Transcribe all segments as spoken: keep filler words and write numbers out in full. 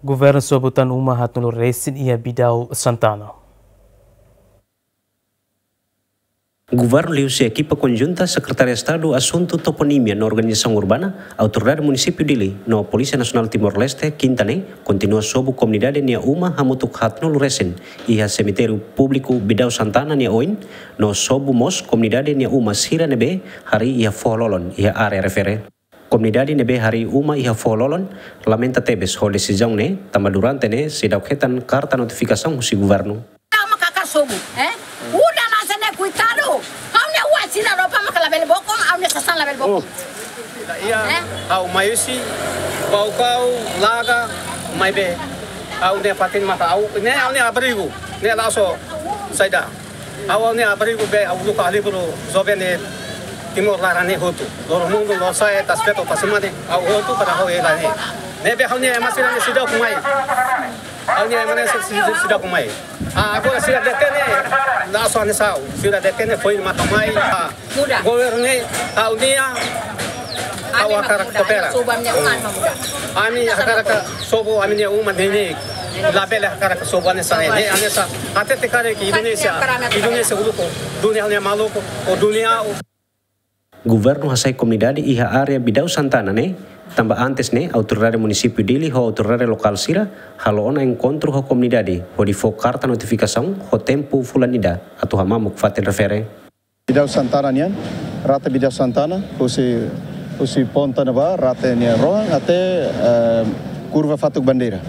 Governu sobu tan uma haatnulu resin iha Bidau Santana. Governu liuhusi ekipa konjunta Sekretáriu Estadu Asuntu Toponímia no Organizasaun Urbana, Autoridade Munisípiu Dili no Polísia Nasionál Timor-Leste, Kinta ne'e, kontinua sobu komunidade nia uma hamutuk haatnulu resin iha semitériu públiku Bidau Santana nia oin, no sobu mós komunidade nia uma sira ne'ebé harii iha foho-lolon iha área refere. Komunidade ne'ebé harii uma iha foho-lolon lamenta tebes ho desizaun ne'e, tanba durante ne'e seidauk hetan karta notifikasaun husi governu. Tama kaka sobu, eh? Udah nasa ne kuitadu. Ha'u-nia oan sira roupa maka labele bokon, ha'u-nia sasán labele bokon. Oh. Iya, eh? Ha'u mai husi Baucau, Laga, maibé ha'u-nia fatin maka ha'u, ne'e ha'u-nia abrigu, ne'e la'ós saida. Ha'u-nia abrigu be ha'u uluk aliburu joven Timor laran ne'e hotu. Loro mundu, loro sa'e, taspeto, pasimani, ha'u hotu para ha'u hela ne'e. Ne'ebé ha'u-nia ema sira ne'e seidauk mai. Ha'u-nia ema ne'e sei, sei, seidauk mai. Ah, agora sira detene, la'ós hanesan ha'u. Sira detene foin maka mai. Ah, muda. Governu ne'e, ha'u-nia, ha'u hakarak koopera. Sobu ami-nia uma, muda. Ami hakarak sobu ami-nia uma ne'e ne'e. Labele hakarak sobu hanesan ne'e, hanesan. Até te kare ke Indonézia, Indonézia uluk, dunia ne'e maluku, o dunia. Governu hasai komunidade iha área Bidau Santana ne'e, tanba antes ne'e, autoridade munisípiu Dili ho autoridade lokál sira halo ona enkontru ho komunidade, hodi fó karta notifikasaun ho tempu fulan ida atu hamamuk fatin refere. Bidau Santana nian, rate Bidau Santana, husi, husi ponta ne'ebá, rate nia rohan, até, eh, kurva Fatuk Bandeira.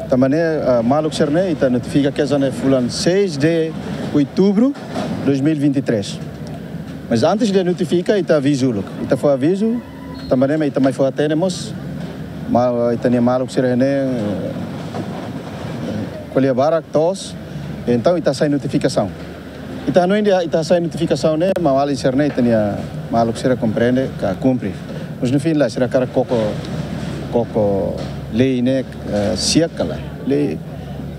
Tanba ne'e, eh, maluk sira-ne'e, ita notifika kedas ne'e fulan seis de outubro dois mil e vinte e três. Mas antes de notifika, ita avizu uluk. Ita fó avizu, tanba ne'e ita mai fó hatene mós. Ma, ita-nia maluk sira-ne'e, eh, ko'alia barak, toos. Entaun, ita hasai notifikasaun. Ita hanoin dehan ita hasai notifikasaun ne'e, maun-alin sira-ne'e, ita-nia maluk sira komprende, ka kumpre. Mas no fim lae, sira hakarak koko, koko lei ne'e, eh, siak ka lae. Lei,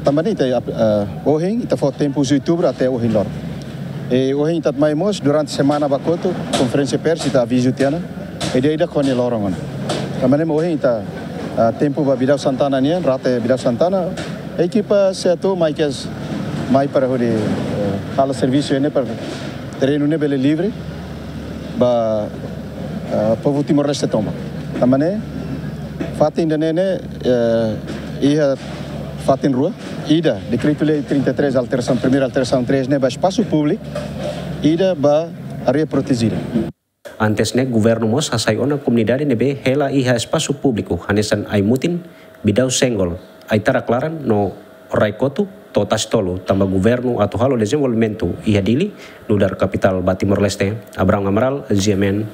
tanba ne'e ita, eh, ohin, ita fó tempu husi outubro até ohin loron. I ohin ita mai mós, durante semana ba kotuk, konferénsia pers, ita avizu tiha ona. I dia ida kone loron ona. Tanba ne'e ohin ita, eh, tempu ba Bidau Santana nian, rate Bidau Santana. Ekipa SEATOU mai kedas, mai para hodi, eh, halo servisu ne'e para terrenu ne'e bele livre ba, eh, povu Timor-Leste tomak. Tanba ne'e, fatin ida-ne'e ne'e, eh, iha fatin rua, ida, Dekretu-Lei trinta e três, alterasaun, primeira alterasaun três ne'e ba espasu públiku, ida ba área protejida. Antes ne'e, governu mós hasai ona komunidade ne'ebé hela iha espasu públiku, hanesan Ai-Mutin, Bidau Senggol, Ai-Tarak Laran no Rai Kotu, to'o Tasi Tolu, tanba governu atu halo dezenvolvimentu iha Dili, nu'udar kapitál ba Timor-Leste. Abraham Amaral, G M N.